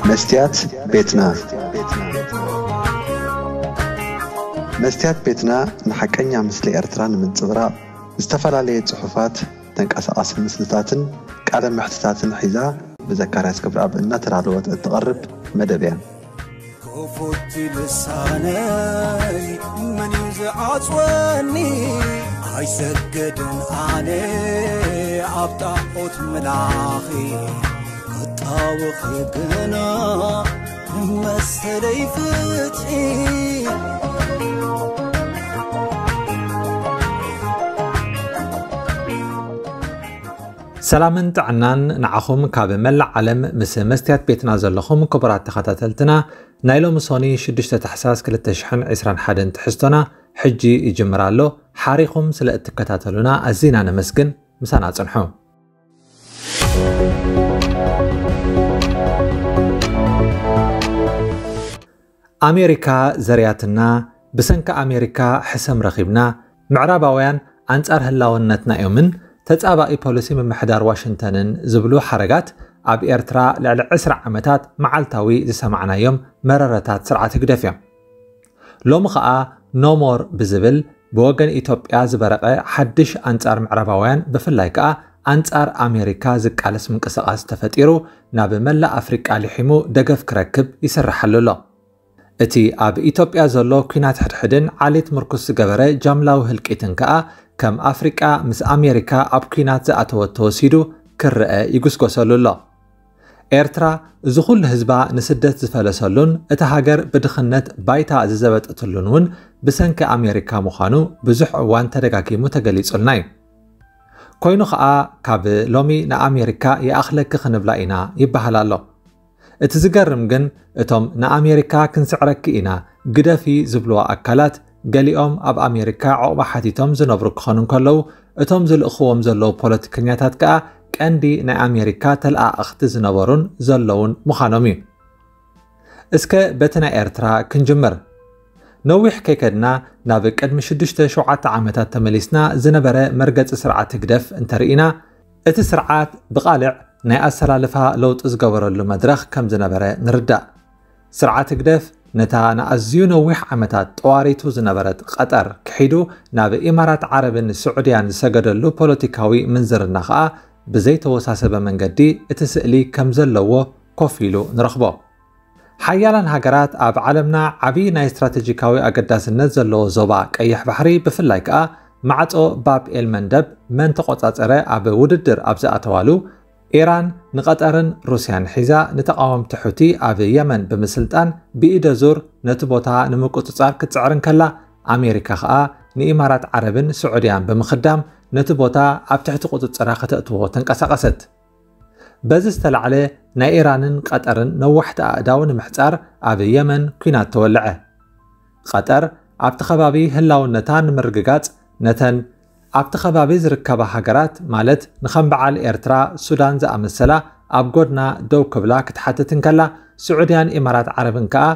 መስትያት ቤትና። መስትያት ቤትና ንሓቀኛ ምስሊ ኤርትራ ንምንጽብራቕ ዝተፈላለየ ጽሑፋት፣ ተንቀሳቓሲ ምስልታትን ቃለ መሕትታትን ሒዛ ብዘካርያስ ገብረኣብ እናተዳለወት እትቐርብ መደብ እያ። ክፉት ልሳነይ መን እዩ ዝዓጽወኒ? ኣይሰግድን ኣነ ኣብ ጣዖት ምላኺ፣ ክጣወኺ ግና መሰለይ ፍትሒ። ሰላምን ጥዕናን ንዓኹም ካብ መላእ ዓለም ምስ መስትያት ቤትና ዘለኹም ክቡራት ተኸታተልትና። ናይ ሎሚ ሶኒ ሽዱሽተ ታሕሳስ ክልተ ሽሕን ዕስራን ሓደን ትሕዝቶና ሕጂ ይጅምር ኣሎ። ሓሪኹም ስለ እትከታተሉና ኣዚና ነመስግን። ምሳና ጽንሑ። ኣሜሪካ ዘርያትና፣ ብሰንኪ ኣሜሪካ ሕሰም ረኺብና፣ ምዕራባውያን ኣንጻር ህላውነትና እዮምን ተጻባኢ ፖሊሲ ምምሕዳር ዋሽንግተንን ዝብሉ ሓረጋት ኣብ ኤርትራ ልዕሊ ዕስራ ዓመታት መዓልታዊ ዝሰማዕናዮም መረረታት ስርዓት ህግደፍ እዮም። ሎሚ ኸኣ ኖሞር ብዝብል ብወገን ኢትዮጵያ ዝበረቐ ሓድሽ ኣንጻር ምዕራባውያን ብፍላይ ከኣ ኣንጻር ኣሜሪካ ዝቃለስ ምንቅስቓስ ተፈጢሩ ናብ መላእ ኣፍሪቃ ሊሒሙ ደገፍ ክረክብ ይስርሓሉ ኣሎ። እቲ ኣብ ኢትዮጵያ ዘሎ ኲናት ሕድሕድን ዓሌት ምርኩስ ዝገበረ ጃምላዊ ህልቂትን ከኣ ከም ኣፍሪቃ ምስ ኣሜሪካ ኣብ ኲናት ዝኣተወት ተወሲዱ ክረአ ይጉስጎሰሉ ኣሎ። ኤርትራ እዚ ኩሉ ህዝባ ንስደት ዝፈለሰሉን እታ ሃገር ብድኽነት ባይታ ዝዘበጠትሉን እውን ብሰንኪ ኣሜሪካ ምዃኑ ብዙሕ እዋን ተደጋጊሙ ተገሊጹልና እዩ። ኮይኑ ኸኣ ካብ ሎሚ ንኣሜሪካ ይኣኽለኪ ክንብላ ኢና ይበሃል ኣሎ። እቲ ዝገርም ግን እቶም ንኣሜሪካ ክንስዕረኪ ኢና ግደፊ ዝብልዋ ኣካላት ገሊኦም ኣብ ኣሜሪካ ዑቕባ ሓቲቶም ዝነብሩ ክኾኑ እንከለዉ እቶም ዝልእኽዎም ዘለዉ ፖለቲከኛታት ከኣ ቀንዲ ናይ ኣሜሪካ ተለኣእኽቲ ዝነበሩን ዘለዉን ምዃኖም እዩ። እስከ በቲ ናይ ኤርትራ ክንጅምር። ነዊሕ ከይከድና ናብ ቅድሚ ሽዱሽተ ሸውዓተ ዓመታት ተመሊስና ዝነበረ መርገጺ ስርዓት ህግደፍ እንተርኢና እቲ ስርዓት ብቓልዕ ናይ ኣሰላልፋ ለውጢ ዝገበረሉ መድረኽ ከም ዝነበረ ንርዳእ። ስርዓት ህግደፍ ነታ ንኣዝዩ ነዊሕ ዓመታት ጠዋሪቱ ዝነበረት ቀጠር ክሒዱ ናብ ኢማራት ዓረብን ስዑድያን ዝሰገደሉ ፖለቲካዊ ምንዝርና ኸኣ ብዘይተወሳሰበ መንገዲ እቲ ስእሊ ከም ዘለዎ ኮፍ ኢሉ ንረኽቦ። ሓያላን ሃገራት ኣብ ዓለምና ዓቢ ናይ ስትራተጂካዊ ኣገዳስነት ዘለዎ ዞባ ቀይሕ ባሕሪ ብፍላይ ከኣ ማዕጾ ባብ ኤል መንደብ መን ተቖጻጸረ ኣብ ውድድር ኣብ ዝኣተዋሉ ኢራን ንቐጠርን ሩስያን ሒዛ ንተቓወምቲ ሑቲ ኣብ የመን ብምስልጣን ብኢደ ዙር ነቲ ቦታ ንምቁጽጻር ክትጽዕር እንከላ ኣሜሪካ ከኣ ንኢማራት ዓረብን ስዑድያን ብምኽዳም ነቲ ቦታ ኣብ ትሕቲ ቁጽጽራ ከተእትዎ ተንቀሳቐሰት። በዚ ዝተላዕለ ናይ ኢራንን ቀጠርን ነዋሕቲ ኣእዳው ንምሕጻር ኣብ የመን ኲናት ተወልዐ። ቀጠር ኣብቲ ከባቢ ህላውነታ ንምርግጋጽ ነተን ኣብቲ ከባቢ ዝርከባ ሃገራት ማለት ንኸም በዓል ኤርትራ፣ ሱዳን ዝኣመሰላ ኣብ ጎድና ደው ክብላ ክትሓትት እንከላ ስዑድያን ኢማራት ዓረብን ከኣ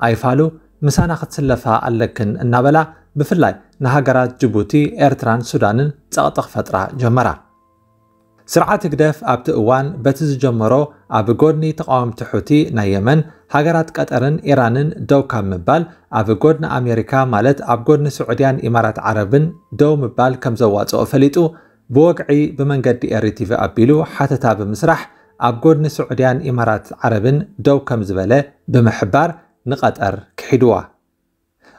ኣይፋሉ ምሳና ክትስለፋ ኣለክን እናበላ ብፍላይ ንሃገራት ጅቡቲ፣ ኤርትራን ሱዳንን ጸቕጢ ክፈጥራ ጀመራ። ስርዓት ህግደፍ ኣብቲ እዋን በቲ ዝጀመሮ ኣብ ጎድኒ ተቓወምቲ ሑቲ ናይ የመን ሃገራት ቀጠርን ኢራንን ደው ካብ ምባል ኣብ ጎድኒ ኣሜሪካ ማለት ኣብ ጎድኒ ስዑድያን ኢማራት ዓረብን ደው ምባል ከም ዘዋጽኦ ፈሊጡ ብወግዒ ብመንገዲ ኤሪ ቲቪ ኣቢሉ ሓተታ ብምስራሕ ኣብ ጎድኒ ስዑድያን ኢማራት ዓረብን ደው ከም ዝበለ ብምሕባር ንቐጠር ክሒድዋ።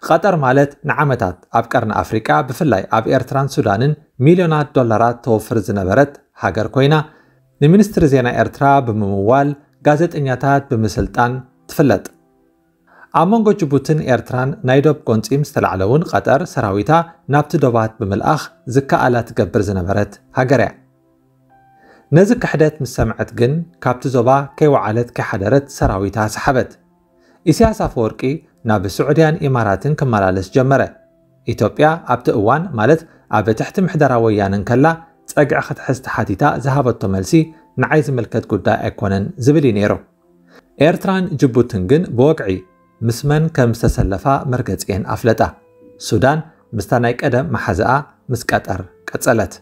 ቐጠር ማለት ንዓመታት ኣብ ቀርኒ ኣፍሪቃ ብፍላይ ኣብ ኤርትራን ሱዳንን ሚልዮናት ዶላራት ተወፍር ዝነበረት ሃገር ኮይና ንሚኒስትሪ ዜና ኤርትራ ብምምዋል ጋዜጠኛታት ብምስልጣን ትፍለጥ። ኣብ መንጎ ጅቡትን ኤርትራን ናይ ዶብ ጎንጺ ምስ ተላዕለ እውን ቐጠር ሰራዊታ ናብቲ ዶባት ብምልኣኽ ዝከኣላ ትገብር ዝነበረት ሃገር እያ። ነዚ ክሕደት ምስ ሰምዐት ግን ካብቲ ዞባ ከይወዓለት ከይሓደረት ሰራዊታ ሰሓበት። ኢሳያስ ኣፈወርቂ ናብ ስዑድያን ኢማራትን ክመላለስ ጀመረ። ኢትዮጵያ ኣብቲ እዋን ማለት ኣብ ትሕቲ ምሕደራ ወያነ እንከላ ጸግዒ ክትሕዝ ተሓቲታ ዝሃበቶ መልሲ ንዓይ ዝምልከት ጉዳይ ኣይኮነን ዝብል እዩ ነይሩ። ኤርትራን ጅቡትን ግን ብወግዒ ምስ መን ከም ዝተሰለፋ መርገጺኤን ኣፍለጣ። ሱዳን ምስታ ናይ ቀደም መሓዛኣ ምስ ቀጠር ቀጸለት።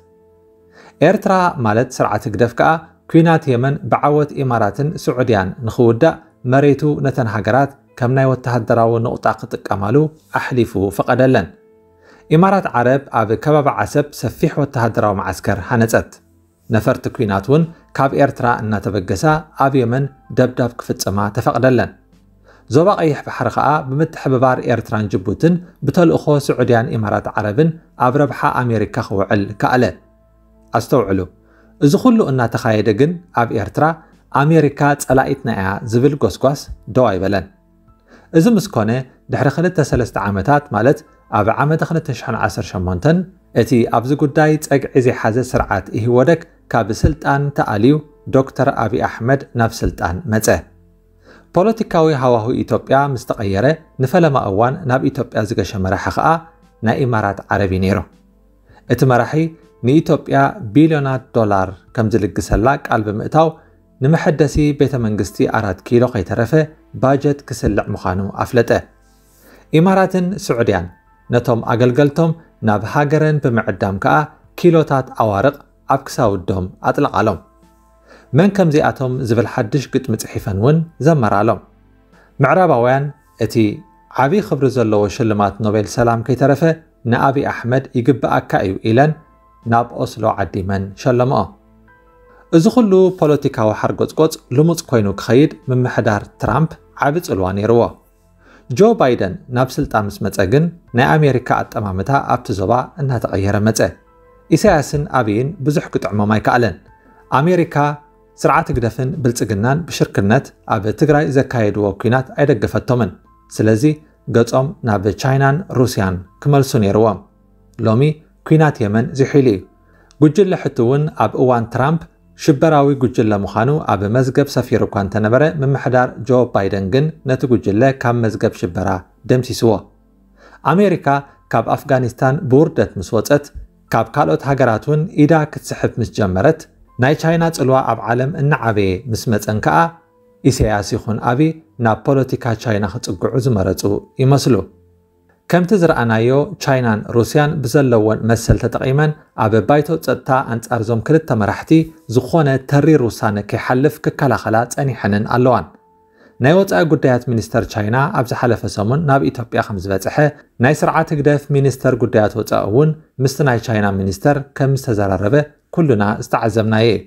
ኤርትራ ማለት ስርዓት ህግደፍ ከኣ ኲናት የመን ብዓወት ኢማራትን ስዑድያን ንኽውዳእ መሬቱ ነተን ሃገራት ከም ናይ ወተሃደራዊ ንቑጣ ክጥቀማሉ ኣሕሊፉ ፈቐደለን። ኢማራት ዓረብ ኣብ ከባቢ ዓሰብ ሰፊሕ ወተሃደራዊ መዓስከር ሃነጸት። ነፈርቲ ኲናት እውን ካብ ኤርትራ እናተበገሳ ኣብ የመን ደብዳብ ክፍጽማ ተፈቕደለን። ዞባ ቀይሕ ባሕሪ ከኣ ብምትሕብባር ኤርትራን ጅቡትን ብተልእኾ ስዑድያን ኢማራት ዓረብን ኣብ ረብሓ ኣሜሪካ ክውዕል ከኣለ። ኣስተውዕሉ፣ እዚ ኩሉ እናተኻየደ ግን ኣብ ኤርትራ ኣሜሪካ ጸላኢትና እያ ዝብል ጎስጓስ ደው ኣይበለን። እዚ ምስ ኮነ ድሕሪ ክልተ ሰለስተ ዓመታት ማለት ኣብ ዓመተ ክልተ ሽሕን ዓሰርተ ሸሞንተን እቲ ኣብዚ ጉዳይ ጸግዒ ዘይሓዘ ስርዓት ኢህወደግ ካብ ስልጣን ተኣልዩ ዶክተር ኣብይ ኣሕመድ ናብ ስልጣን መጸ። ፖለቲካዊ ሃዋሁ ኢትዮጵያ ምስ ተቐየረ ንፈለማ እዋን ናብ ኢትዮጵያ ዝገሸ መራሒ ከኣ ናይ ኢማራት ዓረብ እዩ ነይሩ። እቲ መራሒ ንኢትዮጵያ ቢልዮናት ዶላር ከም ዝልግሰላ ቃል ብምእታው ንመሐደሲ ቤተ መንግስቲ ኣራት ኪሎ ከይተረፈ ባጀት ክስልዕ ምዃኑ ኣፍለጠ። ኢማራትን ስዑድያን ነቶም ኣገልገልቶም ናብ ሃገረን ብምዕዳም ከኣ ኪሎታት ኣዋርቕ ኣብ ክሳውዶም ኣጥለቓሎም። መን ከምዚኣቶም ዝብል ሓድሽ ግጥሚ ጽሒፈን እውን ዘመራሎም። ምዕራባውያን እቲ ዓቢ ክብሪ ዘለዎ ሽልማት ኖቤል ሰላም ከይተረፈ ንኣብይ ኣሕመድ ይግብኣካ እዩ ኢለን ናብ ኦስሎ ዓዲመን ሸለምኦ። እዚ ኩሉ ፖለቲካዊ ሓርጎጽጎጽ ልሙጽ ኮይኑ ክኸይድ ምምሕዳር ትራምፕ ዓቢ ጽልዋ ነይርዎ። ጆ ባይደን ናብ ስልጣን ምስ መጸ ግን ናይ ኣሜሪካ ኣጠማምታ ኣብቲ ዞባ እናተቐየረ መጸ። ኢሳያስን ኣብይን ብዙሕ ክጥዕሞም ኣይከኣለን። ኣሜሪካ ስርዓት ህግደፍን ብልጽግናን ብሽርክነት ኣብ ትግራይ ዘካየድዎ ኲናት ኣይደገፈቶምን። ስለዚ ገጾም ናብ ቻይናን ሩስያን ክመልሱ ነይርዎም። ሎሚ ኲናት የመን ዝሒሉ እዩ። ጉጅለ ሕቲ እውን ኣብ እዋን ትራምፕ ሽበራዊ ጉጅለ ምዃኑ ኣብ መዝገብ ሰፊሩ እኳ እንተነበረ ምምሕዳር ጆ ባይደን ግን ነቲ ጉጅለ ካብ መዝገብ ሽበራ ደምሲስዎ። ኣሜሪካ ካብ ኣፍጋኒስታን ብውርደት ምስ ወጸት ካብ ካልኦት ሃገራት እውን ኢዳ ክትስሕብ ምስ ጀመረት ናይ ቻይና ጽልዋ ኣብ ዓለም እናዓበየ ምስ መጸን ከኣ ኢሳያስ ይኹን ኣብይ ናብ ፖለቲካ ቻይና ክጽግዑ ዝመረጹ ይመስሉ። ከምቲ ዝረኣናዮ ቻይናን ሩስያን ብዘለወን መሰል ተጠቒመን ኣብ ባይቶ ጸጥታ ኣንጻርዞም ክልተ መራሕቲ ዝኾነ ተሪር ውሳነ ከይሓልፍ ክከላኸላ ጸኒሐንን ኣለዋን። ናይ ወጻኢ ጉዳያት ሚኒስተር ቻይና ኣብ ዝሓለፈ ሰሙን ናብ ኢትዮጵያ ከም ዝበጽሐ ናይ ስርዓት ህግደፍ ሚኒስተር ጉዳያት ወጻኢ እውን ምስቲ ናይ ቻይና ሚኒስተር ከም ዝተዘራረበ ኩሉና ዝተዓዘብናዮ እዩ።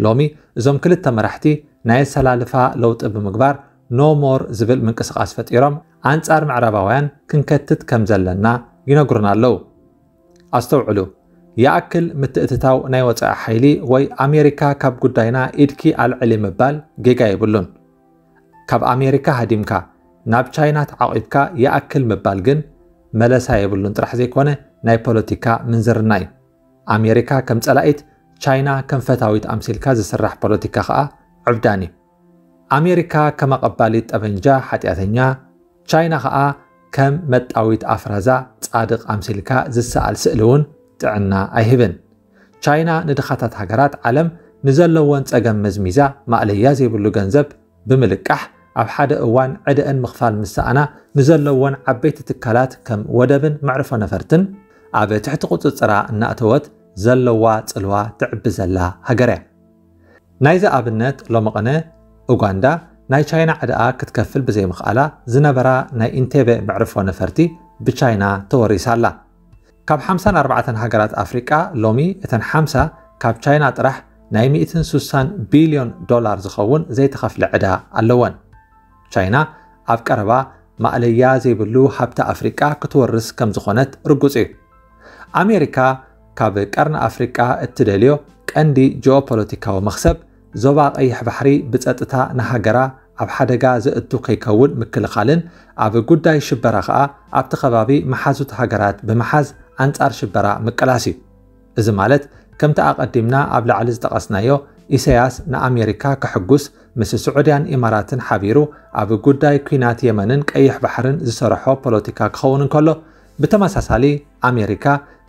ሎሚ እዞም ክልተ መራሕቲ ናይ ኣሰላልፋ ለውጢ ብምግባር ኖ ሞር ዝብል ምንቅስቓስ ፈጢሮም ኣንጻር ምዕራባውያን ክንከትት ከም ዘለና ይነግሩና ኣለዉ። ኣስተውዕሉ፣ ይኣክል ምትእትታው ናይ ወጻኢ ሓይሊ ወይ ኣሜሪካ ካብ ጉዳይና ኢድኪ ኣልዕሊ ምባል ጌጋ የብሉን። ካብ ኣሜሪካ ሃዲምካ ናብ ቻይና ተዓቒብካ ይኣክል ምባል ግን መለሳ የብሉን ጥራሕ ዘይኮነ ናይ ፖለቲካ ምንዝርና እዩ። ኣሜሪካ ከም ጸላኢት፣ ቻይና ከም ፈታዊት ኣምሲልካ ዝስራሕ ፖለቲካ ከኣ ዕብዳን እዩ። ኣሜሪካ ከም ኣቐባሊት ጠበንጃ ሓጢኣተኛ፣ ቻይና ከኣ ከም መጣዊት ኣፍራዛ ጻድቕ ኣምሲልካ ዝሰኣል ስእሊ እውን ጥዕና ኣይህብን። ቻይና ንድኻታት ሃገራት ዓለም ንዘለወን ጸገም መዝሚዛ ማእለያ ዘይብሉ ገንዘብ ብምልቃሕ ኣብ ሓደ እዋን ዕደአን ምኽፋል ምስ ሰኣና ንዘለወን ዓበይቲ ትካላት ከም ወደብን መዕርፎ ነፈርትን ኣብ ትሕቲ ቁጽጽራ እናእተወት ዘለዋ ጽልዋ ትዕቢ ዘላ ሃገር እያ። ናይዚ ኣብነት ሎሚ ቅነ ኡጋንዳ ናይ ቻይና ዕዳኣ ክትከፍል ብዘይምኽኣላ ዝነበራ ናይ ኢንቴቤ መዕርፎ ነፈርቲ ብቻይና ተወሪሳ ኣላ። ካብ ሓምሳን ኣርባዕተን ሃገራት ኣፍሪቃ ሎሚ እተን ሓምሳ ካብ ቻይና ጥራሕ ናይ ሚእትን ሱሳን ቢልዮን ዶላር ዝኸውን ዘይተኸፍለ ዕዳ ኣለወን። ቻይና ኣብ ቀረባ ማእለያ ዘይብሉ ሃብቲ ኣፍሪቃ ክትወርስ ከም ዝኾነት ርጉጽ እዩ። ኣሜሪካ ካብ ቀርኒ ኣፍሪቃ እትደልዮ ቀንዲ ጂኦፖለቲካዊ መኽሰብ ዞባ ቀይሕ ባሕሪ ብጸጥታ ንሃገራ ኣብ ሓደጋ ዘእቱ ከይከውን ምክልኻልን ኣብ ጉዳይ ሽበራ ከኣ ኣብቲ ከባቢ መሓዙት ሃገራት ብምሓዝ ኣንጻር ሽበራ ምቅላስ እዩ። እዚ ማለት ከምቲ ኣቐዲምና ኣብ ላዕሊ ዝጠቐስናዮ ኢሳያስ ንኣሜሪካ ከሕጉስ ምስ ስዑድያን ኢማራትን ሓቢሩ ኣብ ጉዳይ ኲናት የመንን ቀይሕ ባሕርን ዝሰርሖ ፖለቲካ ክኸውን እንከሎ ብተመሳሳሊ ኣሜሪካ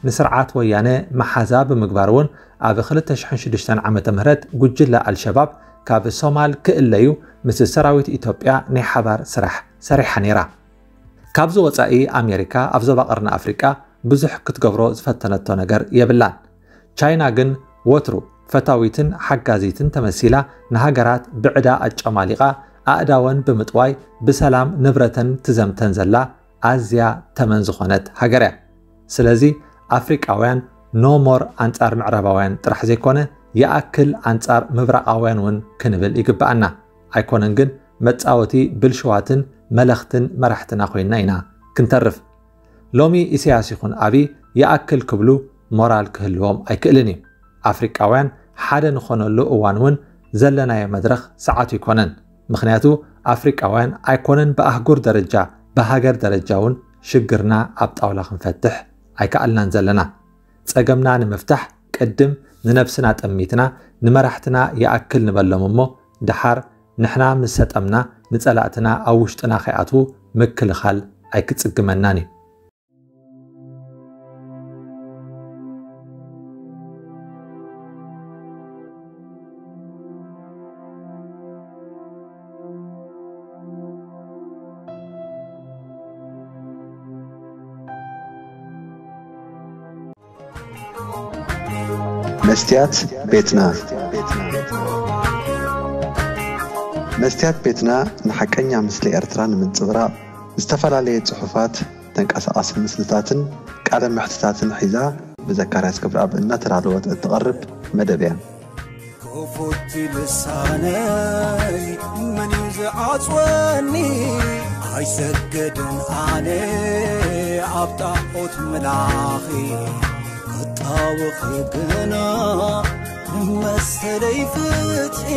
ንስርዓት ወያነ መሓዛ ብምግባር እውን ኣብ ክልተ ሽሕን ሽዱሽተን ዓመተ ምህረት ጉጅለ ኣልሸባብ ካብ ሶማል ክእለዩ ምስ ሰራዊት ኢትዮጵያ ናይ ሓባር ስራሕ ሰሪሓ ነይራ። ካብዚ ወጻኢ ኣሜሪካ ኣብ ዞባ ቀርኒ ኣፍሪቃ ብዙሕ ክትገብሮ ዝፈተነቶ ነገር የብላን። ቻይና ግን ወትሩ ፈታዊትን ሓጋዚትን ተመሲላ ንሃገራት ብዕዳ ኣጨማሊቓ ኣእዳወን ብምጥዋይ ብሰላም ንብረተን ትዘምተን ዘላ ኣዝያ ተመን ዝኾነት ሃገር እያ። ስለዚ ኣፍሪቃውያን no more ኣንጻር ምዕራባውያን ጥራሕ ዘይኮነ ይኣክል ኣንጻር ምብራቓውያን እውን ክንብል ይግብኣና። ኣይኮነን ግን መጻወቲ ብልሽዋትን መለኽትን መራሕትና ኮይና ኢና ክንተርፍ። ሎሚ ኢሳያስ ይኹን ኣብይ ይኣክል ክብሉ ሞራል ክህልዎም ኣይክእልን እዩ። ኣፍሪቃውያን ሓደ ንኾነሉ እዋን እውን ዘለናዮ መድረኽ ሰዓቱ ኣይኮነን። ምኽንያቱ ኣፍሪቃውያን ኣይኮነን ብኣህጉር ደረጃ ብሃገር ደረጃ እውን ሽግርና ኣብ ጣውላ ክንፈትሕ ኣይከኣልናን ዘለና። ጸገምና ንምፍታሕ ቅድም ንነብስና ጠሚትና ንመራሕትና ይኣክል ንበሎም እሞ ድሓር ንሕና ምስ ሰጠምና ንጸላእትና ኣብ ውሽጥና ከይኣትዉ ምክልኻል ኣይክጽግመናን እዩ። መስትያት ቤትና። መስትያት ቤትና ንሓቀኛ ምስሊ ኤርትራ ንምንጽብራቕ ዝተፈላለየ ጽሑፋት፣ ተንቀሳቓሲ ምስልታትን ቃለ መሕትታትን ሒዛ ብዘካርያስ ክብረኣብ እናተዳለወት እትቐርብ መደብ እያ። ክፉት ልሳነይ መን እዩ ዝዓጽወኒ? ኣይሰገድን ኣነ ኣብ ጣዖት ምላኺ ክጣወኺ ግና ንመሰለይ ፍትሒ